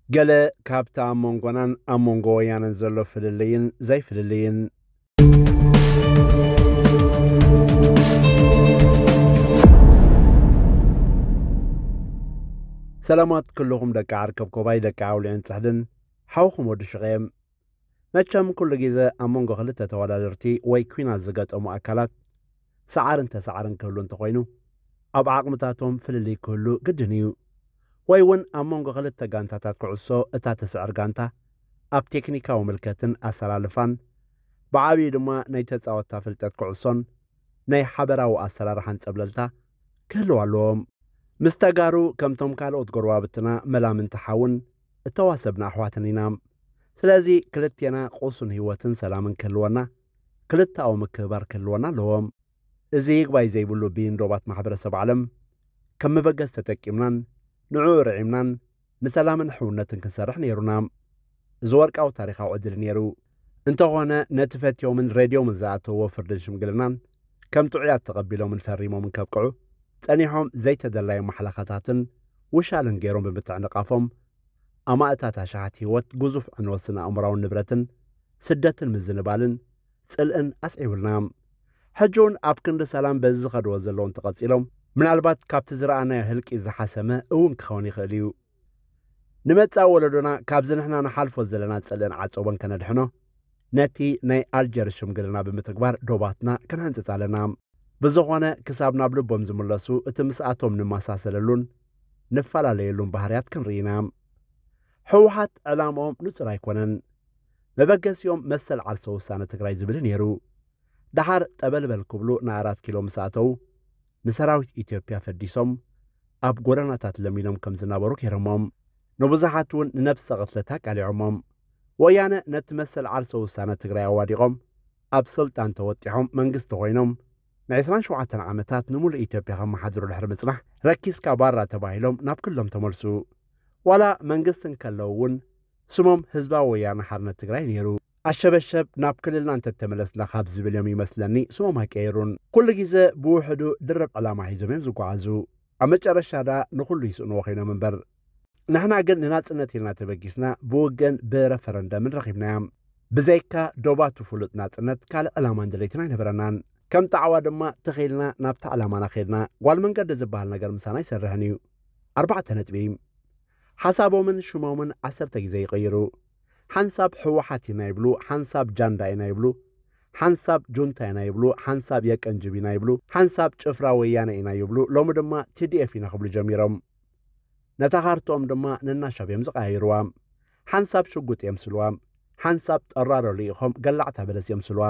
ገለ ካብቲ ኣብ መንጎናን ኣብ መንጎ ወያነን ዘሎ ፍልልይን ዘይፍልልይን። ሰላማት ኩልኹም ደቂ ዓርከብ ኮባይ፣ ደቂ ኣውሊዕን ጽሕድን፣ ሓውኹም ወዲ ሽቐየም። መቸም ኩሉ ግዜ ኣብ መንጎ ክልተ ተወዳደርቲ ወይ ኲናት ዝገጠሙ ኣካላት ሰዓርን ተሰዓርን ክህሉ እንተኾይኑ፣ ኣብ ዓቕምታቶም ፍልልይ ክህሉ ግድን እዩ። ወይ እውን ኣብ መንጎ ክልተ ጋንታታት ኩዕሶ እታ ትስዕር ጋንታ ኣብ ቴክኒካዊ ምልከትን ኣሰላልፋን፣ ብዓብዩ ድማ ናይ ተጻወትታ ፍልጠት ኩዕሶን ናይ ሓበራዊ ኣሰራርሓን ጸብለልታ ክህልው ኣለዎም። ምስ ተጋሩ ከምቶም ካልኦት ጎረባብትና መላምንቲ ሓውን እተዋሰብና ኣሕዋትን ኢና። ስለዚ ክልቴና ቁሱን ህይወትን ሰላምን ክህልወና፣ ክልተኣዊ ምክብባር ክህልወና ኣለዎ። እዚ ይግባይ ዘይብሉ ብይን ዶባት ማሕበረሰብ ዓለም ከም መበገሲ ተጠቂምናን ንዕኡ ርዒምናን ንሰላምን ሕውነትን ክንሰርሕ ነይሩና። እዚ ወርቃዊ ታሪኻዊ ዕድል ነይሩ። እንተኾነ ነቲ ፈትዮምን ረድዮምን ዝኣተውዎ ፍርድን ሽምግልናን ከም ጥዑያት ተቐቢሎምን ፈሪሞምን ከብቅዑ ጸኒሖም ዘይተደላዩ ማሕለኻታትን ውሻልን ገይሮም ብምትዕንቓፎም ኣማእታት ኣሽሓት ህይወት፣ ግዙፍ ዕንወት ስነ ኣእምራውን ንብረትን፣ ስደትን ምዝንባልን ጽልእን ኣስዒቡልና። ሕጂ እውን ኣብ ክንዲ ሰላም በዚ ዝኸድዎ ዘለዉ እንተቐጺሎም፣ ምናልባት ካብቲ ዝረኣናዮ ህልቂት ዝሓሰመ እውን ክኸውን ይኽእል እዩ። ንመጻኢ ወለዶና ካብዚ ንሕና ንሓልፎ ዘለና ጽልእን ዓጸቦን ከነድሕኖ፣ ነቲ ናይ ኣልጀርስ ሽምግልና ብምትግባር ዶባትና ክንሃንጽጽ ኣለና። ብዝኾነ፣ ክሳብ ናብ ልቦም ዝምለሱ፣ እቲ ምስኣቶም ንመሳሰለሉን ንፈላለየሉን ባህርያት ክንርኢ ኢና። ህወሓት ዕላምኦም ንጹር ኣይኮነን። መበገሲኦም መሰል ዓርሰ ውሳነ ትግራይ ዝብል ነይሩ። ደሓር ጠበልበል ክብሉ ንኣራት ኪሎ ምስ ኣተዉ፣ ንሰራዊት ኢትዮጵያ ፈዲሶም ኣብ ጎደናታት ለሚኖም ከም ዝነበሩ ገይሮሞም። ንብዙሓት እውን ንነብሰ ቅትለት ኣቃሊዖሞም። ወያነ ነቲ መሰል ዓርሰ ውሳነ ትግራይ ኣዋዲቖም ኣብ ስልጣን ተወጢሖም መንግስቲ ኮይኖም ን ዕስራን ሸውዓተን ዓመታት ንምሉእ ኢትዮጵያ ከመሓድሩ ድሕሪ ምጽናሕ፣ ረኪስካ ባራ ተባሂሎም ናብ ክልሎም ተመልሱ። ዋላ መንግስቲ እንከለዉ እውን ስሞም ህዝባዊ ወያነ ሓርነት ትግራይ ነይሩ። ኣሸበሸብ ናብ ክልልና እንተተመለስና ካብ ዝብል እዮም ይመስለኒ ስሞም ኣይቀየሩን። ኩሉ ግዜ ብውሕዱ ድርብ ዕላማ ሒዞም እዮም ዝጓዓዙ። ኣብ መጨረሻ ደኣ ንኹሉ ይስእንዎ ኮይኖም እምበር። ንሕና ግን ንናጽነት ኢልና ተበጊስና ብውግእን ብረፈረንደምን ረኺብናያ። ብዘይካ ዶባቱ ፍሉጥ ናጽነት ካልእ ዕላማን ድሌትን ኣይነበረናን። ከም ጣዕዋ ድማ ተኺልና ናብታ ዕላማና ኸድና። ጓል መንገዲ ዝበሃል ነገር ምሳና ኣይሰርሕን እዩ። ኣርባዕተ ነጥቢ። ሓሳቦምን ሽሞምን ዓሰርተ ግዜ ይቕይሩ። ሓንሳብ ህወሓት ኢና ይብሉ፣ ሓንሳብ ጃንዳ ኢና ይብሉ፣ ሓንሳብ ጁንታ ኢና ይብሉ፣ ሓንሳብ የቀንጅብ ኢና ይብሉ፣ ሓንሳብ ጭፍራ ወያነ ኢና ይብሉ፣ ሎሚ ድማ ቲ ዲ ኤፍ ኢና ክብሉ ጀሚሮም። ነታ ካርትኦም ድማ ነናሻብ እዮም ዝቐያይርዋ። ሓንሳብ ሽጉጥ የምስልዋ፣ ሓንሳብ ጠራሮ ልኢኾም ገላዕታ በለስ የምስልዋ።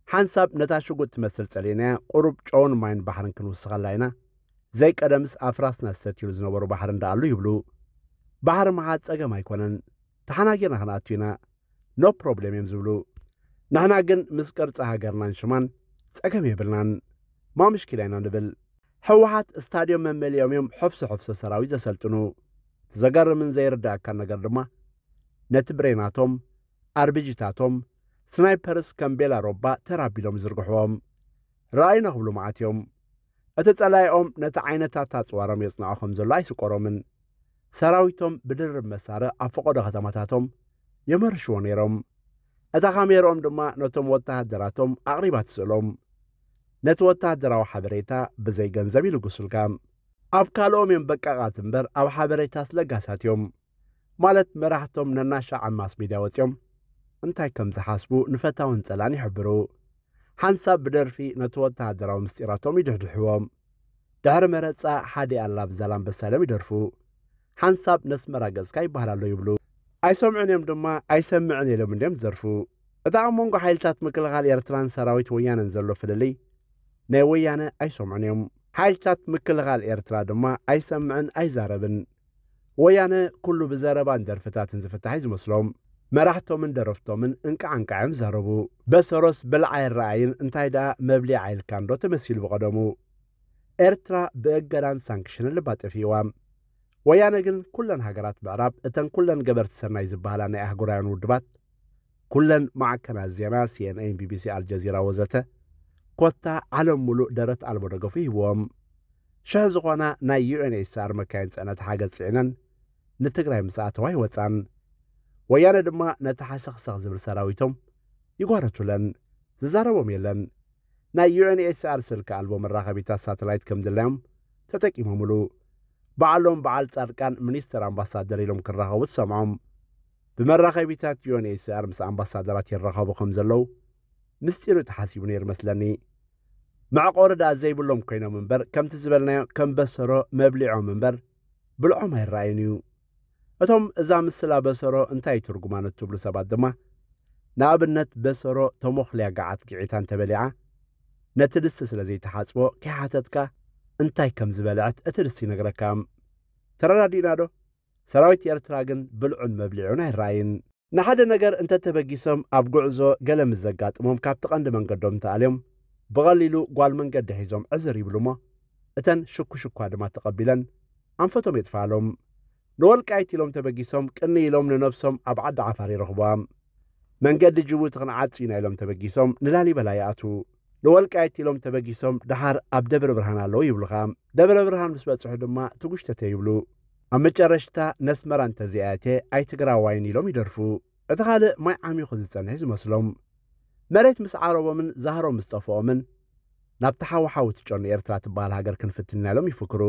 ሓንሳብ ነታ ሽጉጥ ትመስል ጸሊእናያ ቁሩብ ጨውን ማይን ባሕርን ክንውስኸላ ኢና። ዘይቀደምስ ኣፍራስና ዝሰትዩሉ ዝነበሩ ባሕሪ እንዳኣሉ ይብሉ። ባሕሪ ምሓዝ ጸገም ኣይኮነን። ተሓናጊርና ክንኣቱ ኢና። ኖ ፕሮብሌም እዮም ዝብሉ። ንሕና ግን ምስ ቅርጺ ሃገርናን ሽማን ጸገም የብልናን። ማ ምሽኪላ ኢና ንብል። ህወሓት ስታድዮም መመሊኦም እዮም ሕፍሶ ሕፍሶ ሰራዊት ዘሰልጥኑ። ዘገርምን ዘይርዳእካን ነገር ድማ ነቲ ብሬናቶም፣ ኣርቢጂታቶም፣ ስናይፐርስ ከም ቤላ ሮባ ተራቢሎም ይዝርግሕዎም። ረኣዩና ክብሉ መዓት እዮም። እቲ ጸላኢኦም ነቲ ዓይነታት ኣጽዋሮም የጽንዖ ከም ዘሎ ኣይስቆሮምን። ሰራዊቶም ብድርብ መሳርዕ ኣብ ፈቐዶ ከተማታቶም የመርሽዎ ነይሮም። እታ ካሜርኦም ድማ ነቶም ወተሃደራቶም ኣቕሪባ ትስእሎም። ነቲ ወተሃደራዊ ሓበሬታ ብዘይ ገንዘብ ይልግሱልካ። ኣብ ካልኦም እዮም በቃቓት እምበር ኣብ ሓበሬታስ ለጋሳት እዮም። ማለት መራሕቶም ነናሻዕ ኣብ ማስ ሚድያ ወጺኦም እንታይ ከም ዝሓስቡ ንፈታውን ጸላእን ይሕብሩ። ሓንሳብ ብደርፊ ነቲ ወተሃደራዊ ምስጢራቶም ይድሕድሕዎም። ድሕሪ መረጻ ሓደ ኣላ ብዛላምበሳ ኢሎም ይደርፉ። ሓንሳብ ነስመራ ገጽካ ይበሃል ኣሎ ይብሉ። ኣይሰምዑን እዮም ድማ ኣይሰምዕን ኢሎም እንድዮም ዝደርፉ። እቲ ኣብ መንጎ ሓይልታት ምክልኻል ኤርትራን ሰራዊት ወያነን ዘሎ ፍልልይ ናይ ወያነ ኣይሰምዑን እዮም። ሓይልታት ምክልኻል ኤርትራ ድማ ኣይሰምዕን ኣይዛረብን። ወያነ ኩሉ ብዘረባን ደርፍታትን ዝፍታሕ እዩ ዝመስሎም። መራሕቶምን ደረፍቶምን እንቃዕ እንቃዕ እዮም ዝዛረቡ። በሰሮስ ብልዓ ኣይረኣይን እንታይ ደኣ መብሊዓ ኢልካ እንዶ ተመሲሉ ብቐደሙ። ኤርትራ ብእገዳን ሳንክሽንን ልባ ጠፊእዋ። ወያነ ግን ኩለን ሃገራት ምዕራብ እተን ኩለን ገበርቲ ሰናይ ዝበሃላ ናይ ኣህጉራውያን ውድባት፣ ኩለን ማዕከናት ዜና ሲ ኤን ኤን፣ ቢ ቢ ሲ፣ ኣልጀዚራ ወዘተ፣ ኮታ ዓለም ሙሉእ ደረት ኣልቦ ደገፉ ይህብዎም። ሽሕ ዝኾና ናይ ዩ ኤን ኤች ሲ ኣር መካይን ጽዕነት ሓገዝ ጽዒነን ንትግራይ ምስ ኣተዋ ኣይወፃን። ወያነ ድማ ነቲ ሓሰኽሰኽ ዝብል ሰራዊቶም ይጓረቱለን፣ ዝዛረቦም የለን። ናይ ዩ ኤን ኤች ሲ ኣር ስልኪ ኣልቦ መራኸቢታት ሳተላይት ከም ድላዮም ተጠቂሞምሉ። ባዕሎም በዓል ፃድቃን ሚኒስተር ኣምባሳደር ኢሎም ክራኸቡ ትሰምዖም። ብመራኸቢታት ዩ ኤን ኤች ሲ ኣር ምስ ኣምባሳደራት ይራኸቡ ከም ዘለዉ ምስጢሩ ተሓሲቡ ነይሩ መስለኒ። መዕቆሪ ደኣ ዘይብሎም ኮይኖም እምበር ከምቲ ዝበልናዮ ከም በሰሮ መብሊዖም እምበር ብልዖም ኣይረኣዩን እዩ። እቶም እዛ ምስላ በሰሮ እንታይ ትርጉማ ንትብሉ ሰባት ድማ ንኣብነት በሰሮ ተሞኽልያ ገዓት ግዒታ እንተበሊዓ ነቲ ድስቲ ስለ ዘይተሓጽቦ ከይሓተትካ እንታይ ከም ዝበልዐት እቲ ድስቲ ይነግረካ። ተረዳዲእና ዶ? ሰራዊት ኤርትራ ግን ብልዑን መብሊዑን ኣይረኣይን። ንሓደ ነገር እንተተበጊሶም ኣብ ጉዕዞ ገለ ምስ ዘጋጥሞም ካብቲ ቀንዲ መንገዶም እንተኣልዮም ብቐሊሉ ጓል መንገዲ ሒዞም ዕዝር ይብሉ እሞ እተን ሽኩሽኳ ድማ ተቐቢለን ኣንፈቶም የጥፍኣሎም። ንወልቃይት ኢሎም ተበጊሶም ቅኒ ኢሎም ንነብሶም ኣብ ዓዲ ዓፋር ይረኽቧ። መንገዲ ጅቡቲ ክንዓጹ ኢና ኢሎም ተበጊሶም ንላሊበላ ይኣትዉ። ንወልቃይት ኢሎም ተበጊሶም ደሓር ኣብ ደብረ ብርሃን ኣለዉ ይብሉኻ። ደብረ ብርሃን ምስ በጽሑ ድማ ትጉሽተተ ይብሉ። ኣብ መጨረሽታ ነስመራ እንተዘይኣትየ ኣይትግራዋይን ኢሎም ይደርፉ። እቲ ካልእ ማይ ዓሚኹ ዝጸንሕ ዝመስሎም። መሬት ምስ ዓረቦምን ዛህሮም ምስ ጠፍኦምን ናብቲ ሓውሓው ትጨኑ ኤርትራ ትበሃል ሃገር ክንፍትን ኢና ኢሎም ይፍክሩ።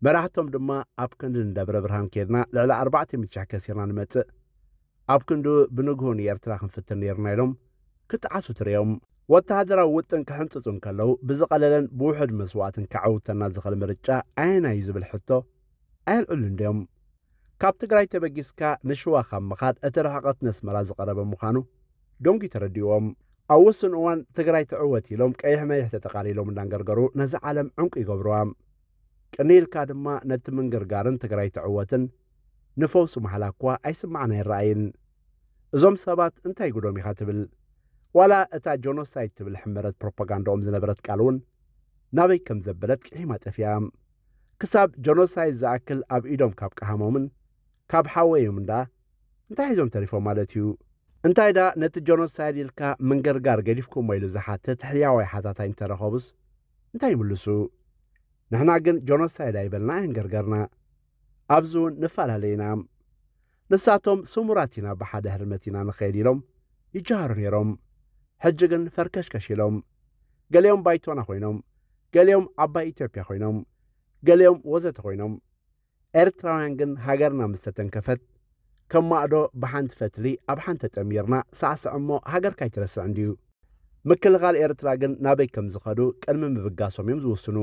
መራሕቶም ድማ ኣብ ክንዲ ንደብረ ብርሃን ኬድና ልዕሊ ኣርባዕተ ሚእቲ ሽሕ ከሲርና ንመጽእ ኣብ ክንድኡ ብንግሆ ንኤርትራ ክንፍትን ነይርና ኢሎም ክጠዓሱ ትርእዮም። ወተሃደራዊ ውጥን ክሕንጽጹ እንከለዉ ብዝቐለለን ብውሑድ መስዋእትን ከዐውተና ዝኽእል ምርጫ ኣየናይ እዩ ዝብል ሕቶ ኣየልዕሉን ድዮም? ካብ ትግራይ ተበጊስካ ንሽዋ ካብ ምኻድ እቲ ርሕቐት ነስመራ ዝቐረበ ምዃኑ ደንጉዩ ተረዲእዎም። ኣብ ውሱን እዋን ትግራይ ትዕወት ኢሎም ቀይሕ መይሕ ተጠቓሊሎም እንዳንገርገሩ ነዚ ዓለም ዕንቁ ይገብርዋ። ቅኒ ኢልካ ድማ ነቲ ምንግርጋርን ትግራይ ትዕወትን ንፈውሲ ማሕላ እኳ ኣይስማዕን ኣይረኣይን። እዞም ሰባት እንታይ ጉዶም ኢኻ ትብል? ዋላ እታ ጆኖሳይድ ትብል ሕመረት ፕሮፓጋንዳኦም ዝነበረት ቃል እውን ናበይ ከም ዘበለት ቅሒማ ጠፊኣ። ክሳብ ጆኖሳይድ ዝኣክል ኣብ ኢዶም ካብ ቀሃሞምን ካብ ሓወዮም እንዳ እንታይ ሒዞም ተሪፎም ማለት እዩ? እንታይ ዳ ነቲ ጆኖሳይድ ኢልካ ምንግርጋር ገዲፍኩሞ ኢሉ ዝሓትት ሕያዋይ ሓታታይ እንተረኸቡስ እንታይ ይምልሱ? ንሕና ግን ጆኖሳይድ ኣይበልና ኣይንገርገርና። ኣብዚ እውን ንፈላለ ኢና። ንሳቶም ስሙራት ኢና ብሓደ ህርመት ኢና ንኸይድ ኢሎም ይጀሃሩ ነይሮም። ሕጂ ግን ፈርከሽከሽ ኢሎም። ገሊኦም ባይቶና ኮይኖም፣ ገሊኦም ዓባይ ኢትዮጵያ ኮይኖም፣ ገሊኦም ወዘተ ኮይኖም። ኤርትራውያን ግን ሃገርና ምስ ተተንከፈት ከም ማእዶ ብሓንቲ ፈትሊ ኣብ ሓንቲ ተጠሚርና ሳዕስዕ እሞ ሃገርካ ኣይትረስዕን ድዩ? ምክልኻል ኤርትራ ግን ናበይ ከም ዝኸዱ ቅድሚ ምብጋሶም እዮም ዝውስኑ።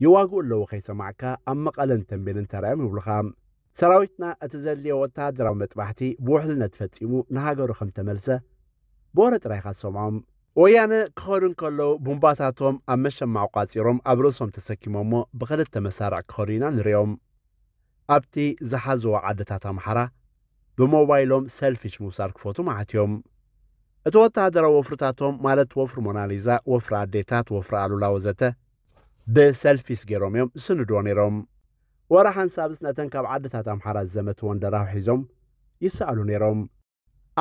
ይዋግኡ ኣለዉ ከይሰማዕካ ኣብ መቐለን ተንቤንን ተራእዮም ይብሉኻ። ሰራዊትና እቲ ዘድልዮ ወተሃደራዊ መጥባሕቲ ብውሕልነት ፈጺሙ ንሃገሩ ከም ተመልሰ ብወረ ጥራይ ኢኻ ትሰምዖም። ወያነ ክኸዱ እንከለዉ ቡምባታቶም ኣብ መሸማዕ ቋጺሮም ኣብ ርእሶም ተሰኪሞሞ ብኽልተ መሳርዕ ክኸዱ ኢና ንርእዮም። ኣብቲ ዝሓዝዎ ዓድታት ኣምሓራ ብሞባይሎም ሰልፊሽ ምውሳድ ክፈቱ መዓት እዮም። እቲ ወተሃደራዊ ወፍርታቶም ማለት ወፍሪ ሞናሊዛ፣ ወፍሪ ኣዴታት፣ ወፍሪ ኣሉላ ወዘተ ብሰልፊስ ገይሮም እዮም ዝስንድዎ ነይሮም። ወረ ሓንሳብስ ነተን ካብ ዓድታት ኣምሓራ ዝዘመትወን ደራሁ ሒዞም ይሰኣሉ ነይሮም።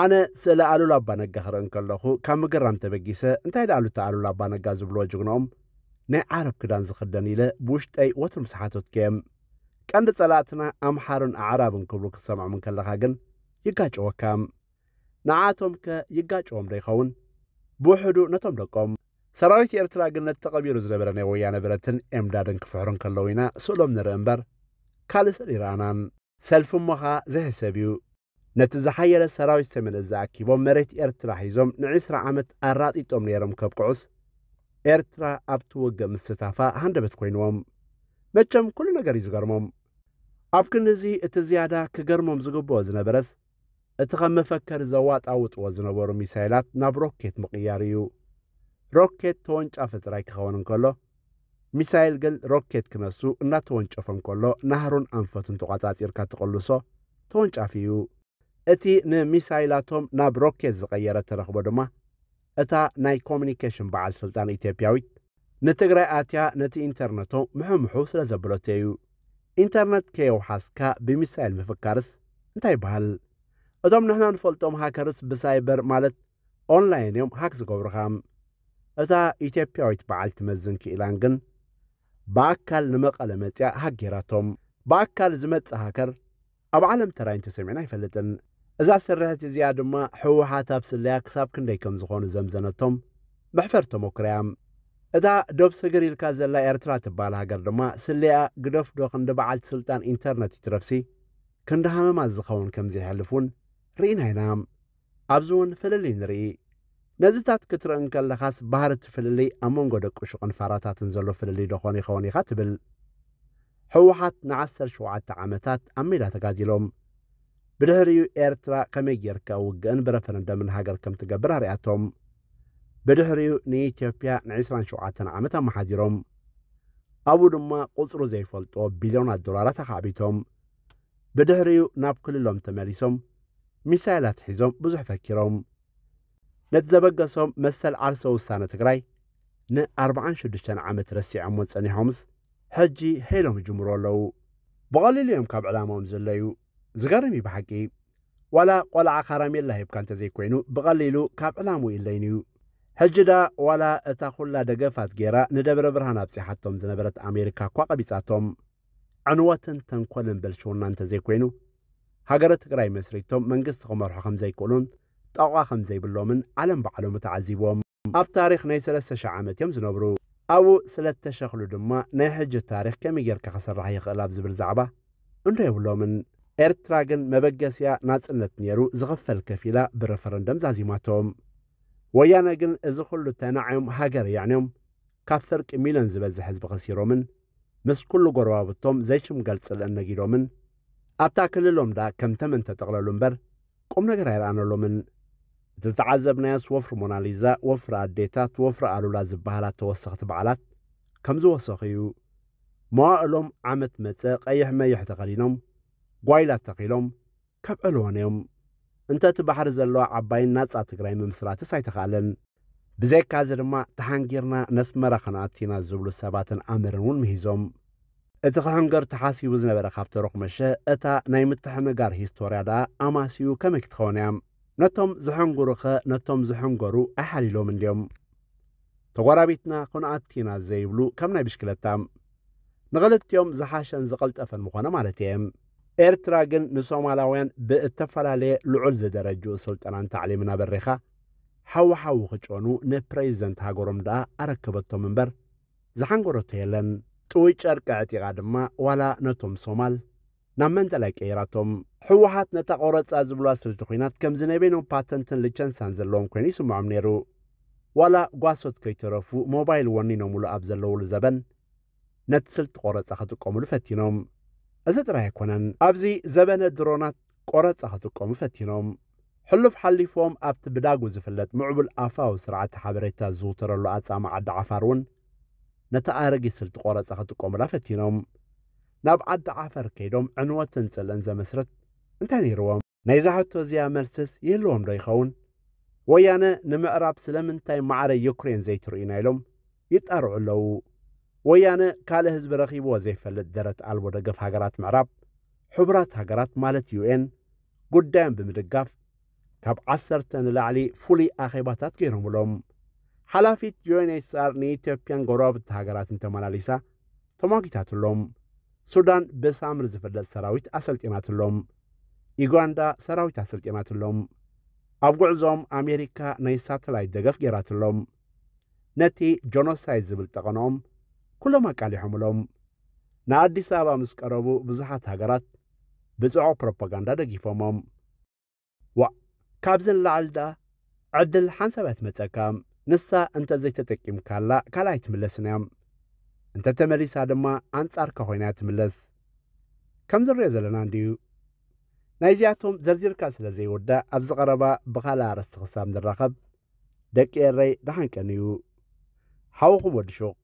ኣነ ስእሊ ኣሉላ ኣባ ነጋ ክርኢ እንከለኹ ካብ ምግራም ተበጊሰ እንታይ ደኣ ኣሉታ ኣሉላ ኣባ ነጋ ዝብልዎ ጅግንኦም ናይ ዓረብ ክዳን ዝኽደን ኢለ ብውሽጠይ ወትሩ ምስ ሓተትኩ እየ። ቀንዲ ጸላእትና ኣምሓሩን ኣዕራብን ክብሉ ክትሰምዖም እንከለኻ ግን ይጋጨወካ። ንዓቶም ከ ይጋጨዎም ዶ ይኸውን? ብውሕዱ ነቶም ደቆም። ሰራዊት ኤርትራ ግን ነቲ ተቐቢሩ ዝነበረ ናይ ወያነ ብረትን ኤምዳድን ክፍሕሩ እንከለዉ ኢና ስእሎም ንርኢ እምበር ካልእ ስእሊ ይረኣናን። ሰልፊ እሞ ኸኣ ዝሕሰብ እዩ። ነቲ ዝሓየለ ሰራዊት ሰሜን እዝ ኣኪቦም መሬት ኤርትራ ሒዞም ንዒስራ ዓመት ኣራጢጦም ነይሮም ከብቅዑስ ኤርትራ ኣብቲ ውግእ ምስታፋ ሃንደበት ኮይንዎም። መቸም ኩሉ ነገር እዩ ዝገርሞም። ኣብ ክንዲ እዚ እቲ ዝያዳ ክገርሞም ዝግብኦ ዝነበረስ እቲ ከም መፈከሪ ዘዋጣውጥዎ ዝነበሩ ሚሳይላት ናብ ሮኬት ምቕያር እዩ። ሮኬት ተወንጫፊ ጥራይ ክኸውን እንከሎ፣ ሚሳይል ግን ሮኬት ክነሱ እናተወንጨፈ እንከሎ ናህሩን ኣንፈቱን ተቋጻጺርካ ትቕልሶ ተወንጫፊ እዩ። እቲ ንሚሳይላቶም ናብ ሮኬት ዝቐየረ ተረኽቦ ድማ እታ ናይ ኮሙኒኬሽን በዓል ስልጣን ኢትዮጵያዊት ንትግራይ ኣትያ ነቲ ኢንተርነቶ ምሕምሑ ስለ ዘበለቶ እዩ። ኢንተርነት ከየውሓስካ ብሚሳይል ምፍካርስ እንታይ ይበሃል? እቶም ንሕና ንፈልጦም ሃከርስ ብሳይበር ማለት ኦንላይን እዮም ሃክ ዝገብሩኻ። እታ ኢትዮጵያዊት በዓልቲ መዝን ክኢላን ግን ብኣካል ንመቐለ መፅያ ሃክ ገይራቶም። ብኣካል ዝመፅእ ሃከር ኣብ ዓለም ተራእዩ እንተሰሚዕና ኣይፈልጥን። እዛ ስርሕቲ እዚኣ ድማ ህወሓት ኣብ ስለያ ክሳብ ክንደይ ከም ዝኾኑ ዘምዘነቶም መሕፈር ተመኩሮ እያ። እታ ዶብ ስግር ኢልካ ዘላ ኤርትራ ትበሃል ሃገር ድማ ስለያ ግደፍዶ ክንዲ በዓልቲ ስልጣን ኢንተርነት ይትረፍሲ ክንዲ ሃመማ ዝኸውን ከም ዘይሕልፍ እውን ርኢና ኢና። ኣብዚ እውን ፍልልይ ንርኢ። ነዚታት ክትርኢ እንከለኻስ ባህሪ እቲ ፍልልይ ኣብ መንጎ ደቂ ሹቕን ፋራታትን ዘሎ ፍልልይ ዶ ኾን ይኸውን ኢኻ ትብል። ህወሓት ንዓሰርተ ሸውዓተ ዓመታት ኣብ ሜዳ ተጋዲሎም። ብድሕሪኡ ኤርትራ ከመይ ጌርካ ውግእን ብረፈረንደምን ሃገር ከም ትገብር ኣርያቶም። ብድሕሪኡ ንኢትዮጵያ ንዒስራን ሸውዓተን ዓመት ኣመሓዲሮም። ኣብኡ ድማ ቁጽሩ ዘይፈልጦ ቢልዮናት ዶላራት ኣኻዕቢቶም። ብድሕሪኡ ናብ ክልሎም ተመሊሶም ሚሳይላት ሒዞም ብዙሕ ፈኪሮም። ነቲ ዘበገሶም መሰል ዓርሰ ውሳነ ትግራይ ንኣርባዓን ሽዱሽተን ዓመት ረሲዖሞ ጸኒሖምስ ሕጂ ሄሎም ይጅምሩ ኣለዉ። ብቐሊሉ እዮም ካብ ዕላማኦም ዝለዩ። ዝገርም እዩ ብሓቂ። ዋላ ቆልዓ ካራሜላ ሂብካ እንተዘይኮይኑ ብቐሊሉ ካብ ዕላምኡ ይለይን እዩ። ሕጂ ደኣ ዋላ እታ ኩላ ደገፋት ጌራ ንደብረ ብርሃን ኣብጺሓቶም ዝነበረት ኣሜሪካ እኳ ቀቢጻቶም። ዕንወትን ተንኮልን ብልሽውና እንተዘይኮይኑ ሃገረ ትግራይ መስሪቶም መንግስቲ ክመርሑ ከም ዘይክእሉን ጠቋ ከም ዘይብሎምን ዓለም ባዕሎም ተዓዚብዎም። ኣብ ታሪኽ ናይ ሰለስተ ሽሕ ዓመት እዮም ዝነብሩ። ኣብኡ ስለ እተሸኽሉ ድማ ናይ ሕጂ ታሪኽ ከመይ ጌርካ ክስራሕ ይኽእል ኣብ ዝብል ዛዕባ እንዶ የብሎምን። ኤርትራ ግን መበገሲያ ናጽነት ነይሩ ዝኽፈል ከፊላ ብረፈረንደም ዛዚማቶም። ወያነ ግን እዚ ኩሉ ተናዕዮም ሃገር የዕንዮም ካብ ፍርቂ ሚልዮን ዝበዝሕ ህዝቢ ከሲሮምን ምስ ኩሉ ጎረባብቶም ዘይሽምገል ጽልእን ነጊዶምን ኣብታ ክልሎም ደኣ ከም ተመን ተጠቕለሉ እምበር ቁም ነገር ኣይረኣነሎምን። እቲ ዝተዓዘብናዮስ ወፍሪ ሞናሊዛ፣ ወፍሪ ኣዴታት፣ ወፍሪ ኣሉላ ዝበሃላ ተወሰኽቲ በዓላት ከም ዝወሰኹ እዩ። መዋእሎም ዓመት መጸ ቀይሕ መይሕ ተኸዲኖም ጓይላ ተኺሎም ከብዕልወን እዮም። እንተ እቲ ባሕሪ ዘለዋ ዓባይን ናጻ ትግራይ ምምስራትስ ኣይተኻእለን። ብዘይካዚ ድማ ተሓንጊርና ነስመራ ክንኣቱ ኢና ዝብሉ ሰባትን ኣምርን እውን ምሂዞም። እቲ ክሕንገር ተሓሲቡ ዝነበረ ካብ ተረኹመሸ እታ ናይ ምትሕንጋር ሂስቶርያ ደኣ ኣማስዩ ከመይ ክትኸውን እያ? ነቶም ዝሕንግሩኸ ነቶም ዝሕንገሩ ኣይሓሊሎም እንድዮም? ተጓራቢትና ክንኣቱ ኢና ዘይብሉ ከም ናይ ብሽክለታ። ንኽልቲኦም ዝሓሸን ዝቐልጠፈን ምኾነ ማለት እየ። ኤርትራ ግን ንሶማላውያን ብእተፈላለየ ልዑል ዝደረጅኡ ስልጠናን ታዕሊምን ኣበሪኻ ሓዊ ሓዊ ክጨኑ ንፕሬዚደንት ሃገሮም ደኣ ኣረከበቶም እምበር ዝሓንገረቶ የለን። ጥውይ ጨርቂ ኣዕጢቓ ድማ ዋላ ነቶም ሶማል ናብ መንጠላይ ቀይራቶም። ህወሓት ነታ ቆረጻ ዝብልዋ ስልቲ ኲናት ከምዚ ናይ በይኖም ፓተንትን ልቸንሳን ዘለዎም ኮይኑ ይስምዖም ነይሩ። ዋላ ጓሶት ከይተረፉ ሞባይል ወኒኖምሉ ኣብ ዘለውሉ ዘበን ነቲ ስልቲ ቆረጻ ክጥቀሙሉ ፈቲኖም። እዚ ጥራይ ኣይኮነን። ኣብዚ ዘበነ ድሮናት ቆረጻ ክጥቀሙ ፈቲኖም። ሕሉፍ ሓሊፎም ኣብቲ ብዳጉ ዝፍለጥ ምዕቡል ኣፋዊ ስርዓተ ሓበሬታ ዝዝውተረሉ ኣጻምእ ዓዲ ዓፋር እውን ነቲ ኣረጊት ስልቲ ቆረጻ ክጥቀሙላ ፈቲኖም። ናብ ዓዲ ዓፈር ከይዶም ዕንወትን ጽልእን ዘመስርት እንታይ ነይርዎም? ናይዛ ሕቶ እዚኣ መልስስ ይህልዎም ዶ ይኸውን? ወያነ ንምዕራብ ስለምንታይ ማዕረ ዩክሬን ዘይትርእዩና ኢሎም ይጣርዑ ኣለዉ። ወያነ ካልእ ህዝቢ ረኺብዎ ዘይፈልጥ ደረት ኣልቦ ደገፍ ሃገራት ምዕራብ፣ ሕቡራት ሃገራት ማለት ዩ ኤን፣ ጉዳዮም ብምድጋፍ ካብ ዓሰርተ ንላዕሊ ፍሉይ ኣኼባታት ገይሮምሎም። ሓላፊት ዩ ኤን ኤች ሲ ኣር ንኢትዮጵያን ጎረባብቲ ሃገራትን ተመላሊሳ ተሟጊታትሎም። ሱዳን ብሳምሪ ዝፍለጥ ሰራዊት ኣሰልጢናትሎም። ዩጋንዳ ሰራዊት ኣሰልጢናትሎም። ኣብ ጉዕዞኦም ኣሜሪካ ናይ ሳተላይት ደገፍ ገይራትሎም። ነቲ ጆኖሳይድ ዝብል ጠቐንኦም ኩሎም ኣቃሊሖምሎም። ንኣዲስ ኣበባ ምስ ቀረቡ ብዙሓት ሃገራት ብጽዑቕ ፕሮፓጋንዳ ደጊፎሞም። ዋእ፣ ካብዚ ንላዕሊ ደኣ ዕድል ሓንሳብ እያ ትመጸካ። ንሳ እንተ ዘይተጠቂምካላ ካልኣ ኣይትምለስን እያ። እንተ ተመሊሳ ድማ ኣንጻርካ ኮይና እያ ትምለስ። ከም ዝንሪኦ ዘለና እንድዩ። ናይዚኣቶም ዘርዚርካ ስለ ዘይውዳእ ኣብዚ ቀረባ ብኻልእ ኣርእስቲ ክሳብ ንራኸብ ደቂ ኤረይ ደሓን ቀንዩ። ሓውኹም ወዲ ሹቕ።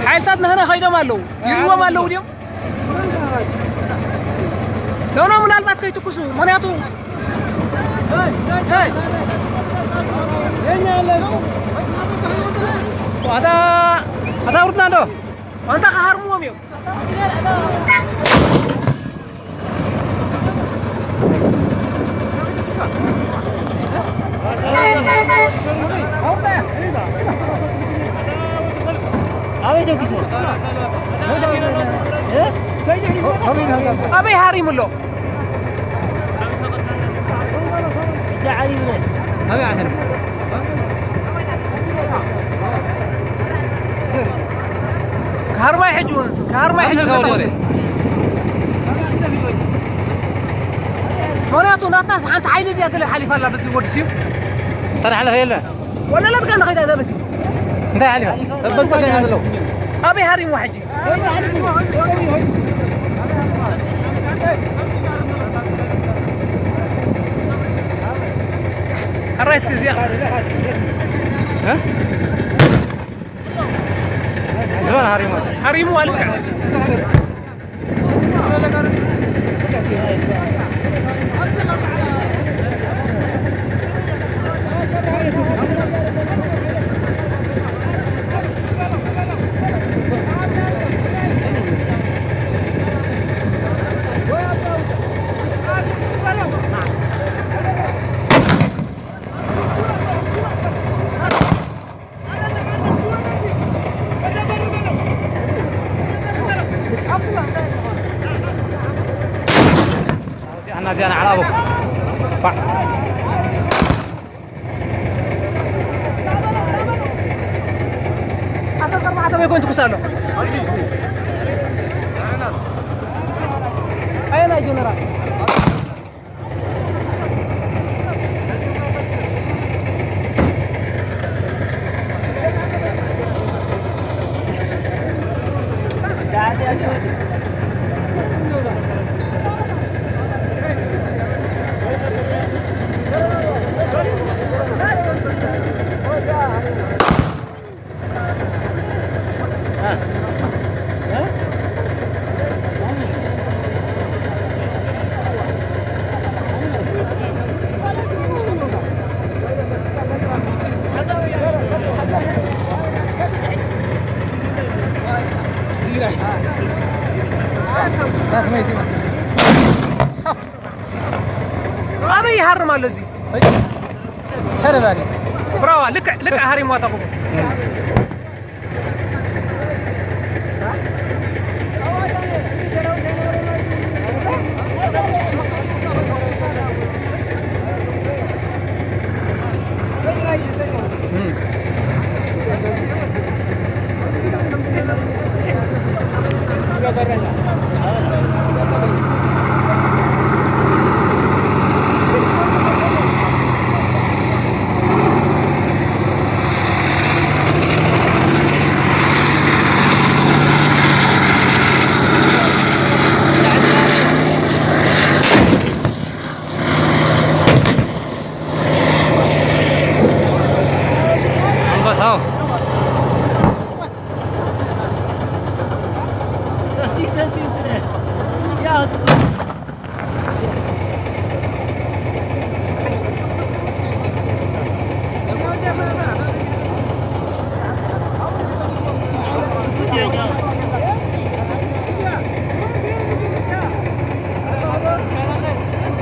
ሓይልታት ናህና ከይዶም ኣለዉ፣ ይርዎም ኣለዉ ድዮም? ኖ፣ ኖ፣ ምናልባት ከይትኩሱ፣ ምኽንያቱ ኣታ፣ ኣታ ውርድና እንዶ። ኣንታ ክሃርምዎም እዮም። ኣበይ ሃሪሙ ኣሎ? ኣበይ ዓሰብ? ክሃርማይ ሕጂ እውን፣ ክሃርማይ ሕጂ እውን። ምኽንያቱ ናትናስ ሓንቲ ሓይሊ ድያ ገለ ሓሊፋ ኣላ በዚ ወዲ ስዩ? ተዳሕለፈ የለ። ወለለት ጋር ንኸይዳ እዛ በቲ። እንታይ ሓሊፋ? ሰብ በልጸገ ኢና ዘለዉ። ኣበይ ሃሪምዋ ሕጂ? ሕራይ እስኪ እዚኣ። እ? ዝባን ሃሪምዋ። ሃሪምዋ ልክዕ። ኣና ዚያና ዓላቦ። ዓሰርተ ኣርባዕተ ወይ ኮን ትኩስ ኣሎ። ኣየናይ ጀነራል? ኣበይ ይሃርም ኣሎ እዚ? ተረባሪ። ብራዋ፣ ልክዕ፣ ልክዕ ሃሪምዋ ተቑሙ። ኣንበሳው።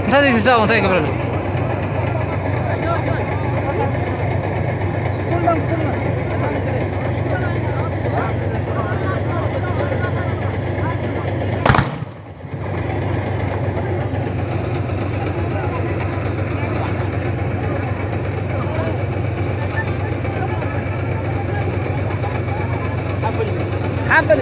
እንታይ ዘይትዛው እንታይ ይገብረሉ? ሓበል